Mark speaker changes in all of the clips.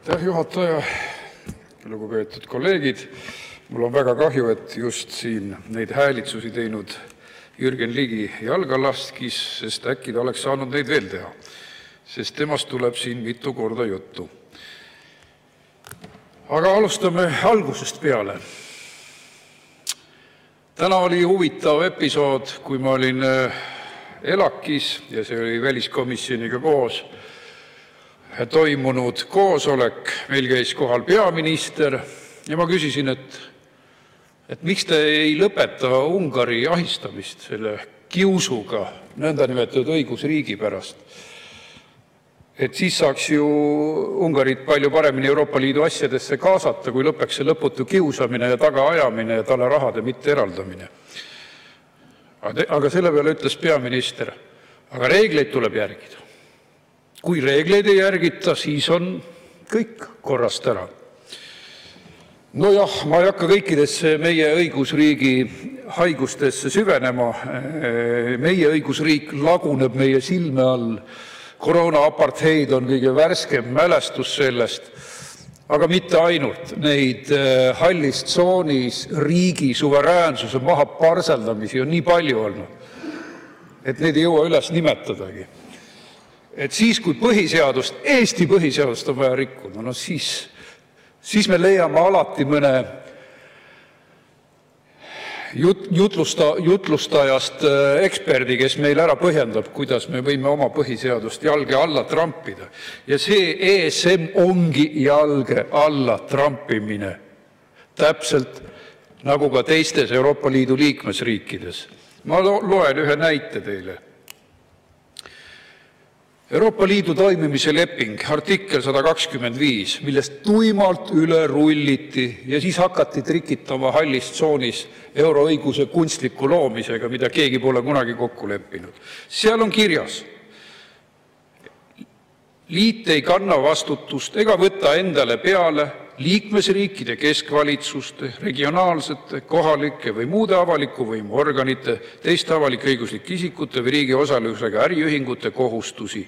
Speaker 1: Aitäh, juhataja! Lugupeetud kolleegid! Mul on väga kahju, et just siin neid häälitsusi teinud Jürgen Ligi jalga laskis, sest äkki ta oleks saanud neid veel teha, sest temast tuleb siin mitu korda juttu. Aga alustame algusest peale. Täna oli huvitav episood, kui ma olin ELAK-is ja see oli väliskomisjoniga koos toimunud koosolek. Meil käis kohal peaminister ja ma küsisin, et miks te ei lõpeta Ungari ahistamist selle kiusuga nõndanimetatud õigusriigi pärast. Et siis saaks ju Ungarit palju paremini Euroopa Liidu asjadesse kaasata, kui lõpeks see lõputu kiusamine ja tagaajamine ja talle rahade mitte eraldamine. Aga selle peale ütles peaminister, aga reegleid tuleb järgida. Kui reegleid ei järgita, siis on kõik korrast ära. Nojah, ma ei hakka kõikidesse meie õigusriigi haigustesse süvenema. Meie õigusriik laguneb meie silme all. Koroona-apartheid on kõige värskem mälestus sellest, aga mitte ainult. Neid hallis tsoonis riigi suveräänsuse maha parseldamisi on nii palju olnud, et neid ei jõua üles nimetadagi. Et siis, kui põhiseadust, Eesti põhiseadust on vaja rikkuda, no siis me leiame alati mõne jutlustajast eksperdi, kes meil ära põhjendab, kuidas me võime oma põhiseadust jalge alla trampida. Ja see ESM ongi jalge alla trampimine. Täpselt nagu ka teistes Euroopa Liidu liikmesriikides. Ma loen ühe näite teile. Euroopa Liidu toimimise leping, artikkel 125, millest tuimalt üle rulliti ja siis hakati trikitama hallis tsoonis euroõiguse kunstliku loomisega, mida keegi pole kunagi kokku leppinud. Seal on kirjas, liit ei kanna vastutust ega võtta endale peale liikmesriikide keskvalitsuste, regionaalsete, kohalike või muude avaliku võimu organite, teiste avalik-õiguslike isikute või riigi osalusega äriühingute kohustusi.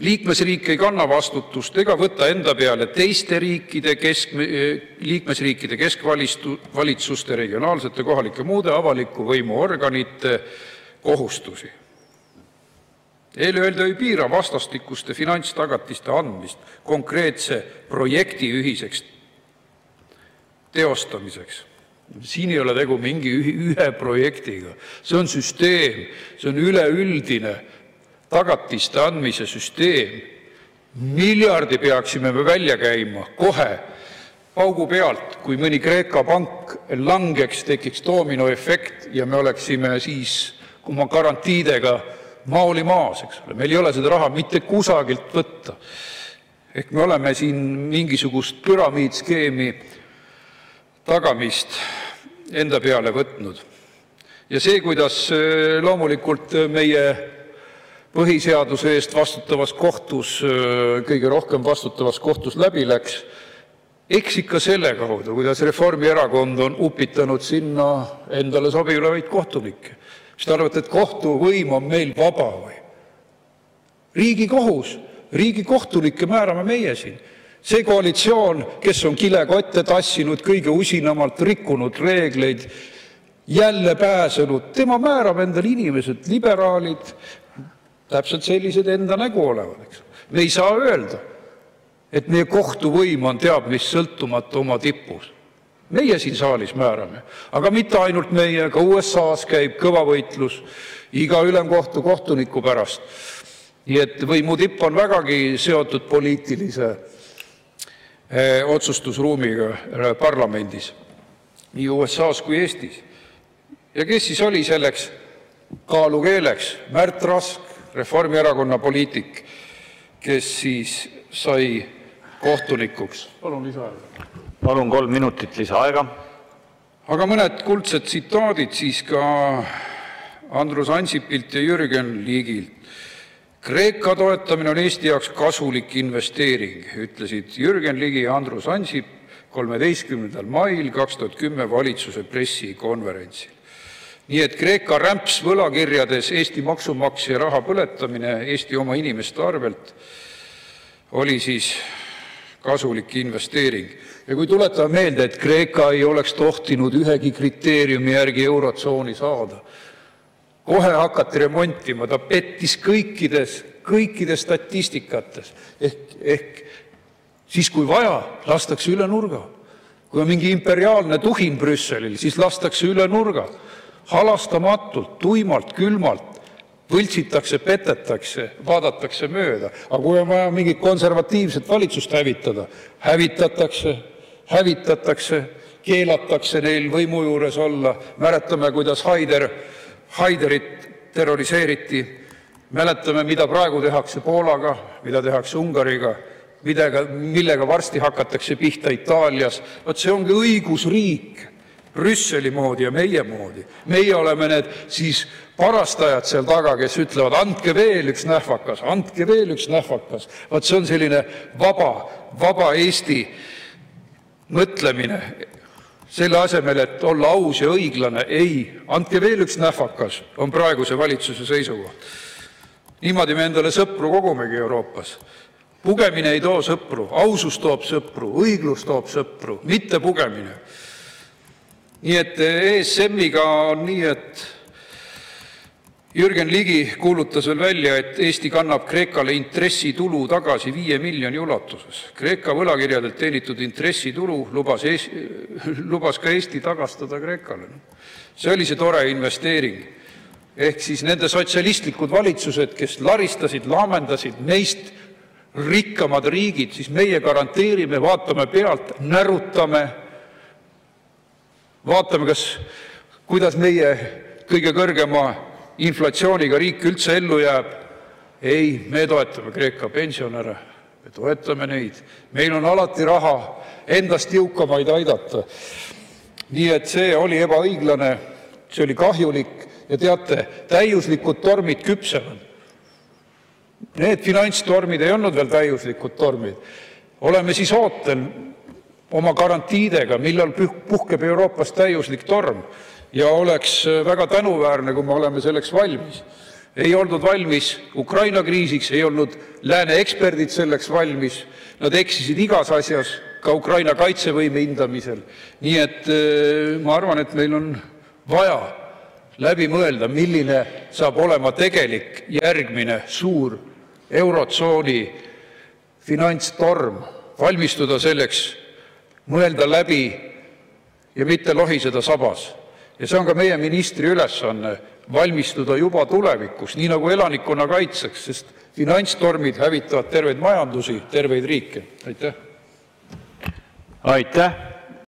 Speaker 1: Liikmesriik ei kanna vastutust ega võtta enda peale teiste liikmesriikide keskvalitsuste, regionaalsete, kohalike muude avaliku võimu organite kohustusi. Eelöeldu ei piira vastastikuste finantstagatiste andmist konkreetse projekti ühiseks teostamiseks. Siin ei ole tegu mingi ühe projektiga. See on süsteem, see on üleüldine tagatiste andmise süsteem. Miljardi peaksime me välja käima kohe paugu pealt, kui mõni Kreeka pank langeks, tekiks dominoefekt ja me oleksime siis oma garantiidega maoli maas, eks ole. Meil ei ole seda raha mitte kusagilt võtta. Ehk me oleme siin mingisugust püramiidskeemi tagamist enda peale võtnud. Ja see, kuidas loomulikult meie põhiseaduse eest vastutavas kohtus, kõige rohkem vastutavas kohtus läbi läks, eks ikka selle kaudu, kuidas Reformierakond on upitanud sinna endale sobivaid kohtunikke. Mis te arvate, et kohtuvõim on meil vaba või? Riigikohus, riigikohtunikke määrame meie siin. See koalitsioon, kes on kilekotte tassinud, kõige usinamalt rikkunud reegleid, jälle pääsenud, tema määrab endale inimesed, liberaalid, täpselt sellised enda nägu olevad. Me ei saa öelda, et meie kohtuvõim on teab mis sõltumatu oma tipus. Meie siin saalis määrame, aga mitte ainult meie, ka USA-s käib kõva võitlus iga ülemkohtu kohtuniku pärast. Nii et võimu tipp on vägagi seotud poliitilise otsustusruumiga parlamendis, nii USA-s kui Eestis. Ja kes siis oli selleks kaalukeeleks? Märt Rask, Reformierakonna poliitik, kes siis sai kohtunikuks. Palun lisaaega.
Speaker 2: Palun 3 minutit lisaaega.
Speaker 1: Aga mõned kuldsed tsitaadid siis ka Andrus Ansipilt ja Jürgen Ligilt. Kreeka toetamine on Eesti jaoks kasulik investeering, ütlesid Jürgen Ligi ja Andrus Ansip 13. mail 2010 valitsuse pressikonverentsil. Nii et Kreeka rämps võlakirjades Eesti maksumaksja raha põletamine Eesti oma inimeste arvelt oli siis kasulik investeering. Ja kui tuletame meelde, et Kreeka ei oleks tohtinud ühegi kriteeriumi järgi eurotsooni saada, kohe hakati remontima, ta pettis kõikides statistikates. Ehk siis, kui vaja, lastakse üle nurga. Kui on mingi imperiaalne tuhin Brüsselil, siis lastakse üle nurga. Halastamatult, tuimalt, külmalt, võltsitakse, petetakse, vaadatakse mööda. Aga kui on vaja mingit konservatiivset valitsust hävitatakse, keelatakse neil võimu juures olla. Mäletame, kuidas Haiderit terroriseeriti. Mäletame, mida praegu tehakse Poolaga, mida tehakse Ungariga, millega varsti hakatakse pihta Itaalias. Vaat see ongi õigusriik Brüsseli moodi ja meie moodi. Meie oleme need siis parastajad seal taga, kes ütlevad, andke veel üks nähvakas, andke veel üks nähvakas. Vaat see on selline vaba Eesti mõtlemine. Selle asemel, et olla aus ja õiglane, ei, andke veel üks nähvakas, on praeguse valitsuse seisukoht. Niimoodi me endale sõpru kogumegi Euroopas. Pugemine ei too sõpru, ausus toob sõpru, õiglus toob sõpru, mitte pugemine. Nii et ESM-iga on nii, et Jürgen Ligi kuulutas veel välja, et Eesti kannab Kreekale intressitulu tagasi 5 miljoni ulatuses. Kreeka võlakirjadelt teenitud intressitulu lubas ka Eesti tagastada Kreekale. See oli see tore investeering. Ehk siis nende sotsialistlikud valitsused, kes laristasid, laamendasid meist rikkamad riigid, siis meie garanteerime, vaatame pealt, närutame, vaatame, kuidas meie kõige kõrgema inflatsiooniga riik üldse ellu jääb. Ei, me toetame Kreeka pensionäre, me toetame neid. Meil on alati raha endast jõukamaid aidata. Nii et see oli ebaõiglane, see oli kahjulik ja teate, täiuslikud tormid küpsevad. Need finantstormid ei olnud veel täiuslikud tormid. Oleme siis ootel oma garantiidega, millal puhkeb Euroopas täiuslik torm. Ja oleks väga tänuväärne, kui me oleme selleks valmis. Ei olnud valmis Ukraina kriisiks, ei olnud lääne eksperdid selleks valmis. Nad eksisid igas asjas, ka Ukraina kaitsevõime hindamisel. Nii et ma arvan, et meil on vaja läbi mõelda, milline saab olema tegelik järgmine suur eurotsooni finantstorm. Valmistuda selleks, mõelda läbi ja mitte lohiseda sabas. Ja see on ka meie ministri ülesanne valmistuda juba tulevikus, nii nagu elanikkonna kaitseks, sest finantstormid hävitavad terveid majandusi, terveid riike. Aitäh!
Speaker 2: Aitäh!